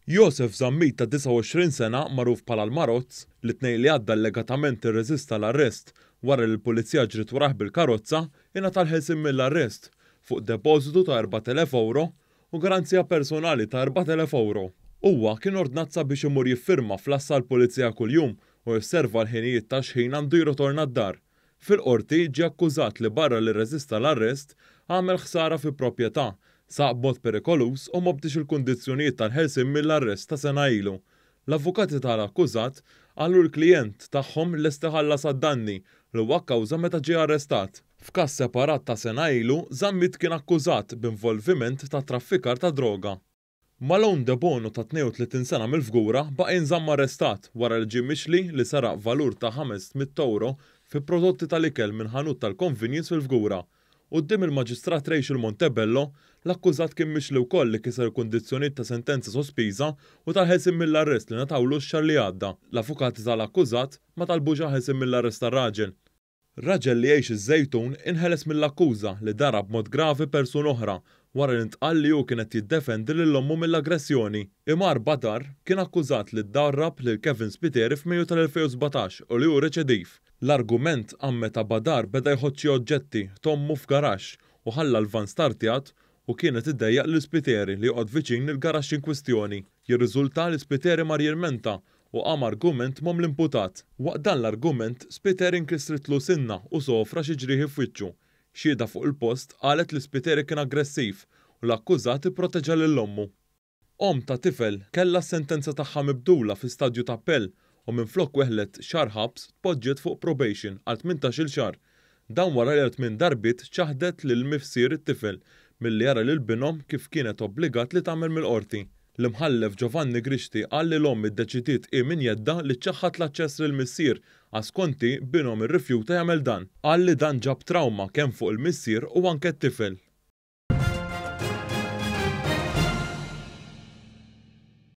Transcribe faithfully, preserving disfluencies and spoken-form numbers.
Josef Zammit ta' disgħa u għoxrin sena, magħruf bħala l-Marozz, li t-Tnejn li għadda allegatament irreżista l-arrest wara li l-Pulizija ġriet warah bil-karozza, ingħata l-ħelsien mill-arrest fuq depożitu ta' erbat elef ewro u garanzija personali ta' erbat elef ewro. Huwa kien ordnat sabiex imur jiffirma fl-għassa għall-Pulizija kuljum u josserva l-ħinijiet ta' x'ħin għandu jirritorna d-dar. Fil-qorti ġie akkużat li barra li rreżista l-arrest, għamel ħsara fi proprjetà, saq b'mod perikoluż u ma bdiex il-kundizzjonijiet tal-ħelsien mill-arrest ta' sena ilu. L-avukati tal-akkużat qalu l-klijent tagħhom lest iħallas għad-danni li huwa kkawża meta ġie arrestat. F'każ separat ta' sena ilu, Zammit kien akkużat b'involviment ta' traffikar ta' droga. Malone Debono ta' tnejn u tletin sena mill-Fgura baqa' jinżamm arrestat wara li ġie mixli li saraq valur ta' ħames mitt euro fi prodotti tal-ikel minn ħanut tal-convenience fil-Fgura. Quddiem il-Maġistrat Rachel Montebello, l-akkużat kien mixli wkoll li kiser kundizzjonijiet ta' sentenza sospiża u tal-ħelsien mill-arrest li ngħatawlu x-xahar li għadda. L-avukati tal-akkużat ma talbux ħelsien mill-arrest tar-raġel. Raġel li jgħix iż-Żejtun inħeles mill-akkuża li darab b'mod gravi persuna oħra wara li ntqal li hu kien qed jiddefendi lil ommu mill-aggressjoni. Imar Badar kien akkużat li ddarrab lil Kevin Spiteri f'Mejju tal-elfejn u sbatax u li hu reċediv. L-argument qam meta Badar beda jħodd xi oġġetti t'ommu f'garaxx u ħalla l-van startjat u kienet iddejjaq lil Spiteri li joqgħod viċin il-garaxx in kwistjoni. Jirriżulta li Spiteri mar jilmenta u qam argument m'omm l-imputat. Waqt dan l-argument, Spiteri inkisritlu sinna u sofra xi ġrieħi f'wiċċu. Xhieda fuq il-post qalet li Spiteri kien aggressiv u l-akkużat ipproteġa lil ommu. Omm ta' tifel kellha s-sentenza tagħha mibdula fi stadju ta' appell u minflok weħlet xahar ħabs tpoġġiet fuq probation għal tmintax-il xahar. Dan wara li għal tmien darbiet ċaħdet lil missier it-tifel milli jara lil binhom kif kienet obbligat li tagħmel mill-qorti. L-imħallef Giovanni Grixti qal li l-omm iddeċidiet hi minn jedda li ċaħħat l-aċċess lil missier għax skonti binhom irrifjuta jagħmel dan. Qal li dan ġab trauma kemm fuq il-missier u anke t-tifel.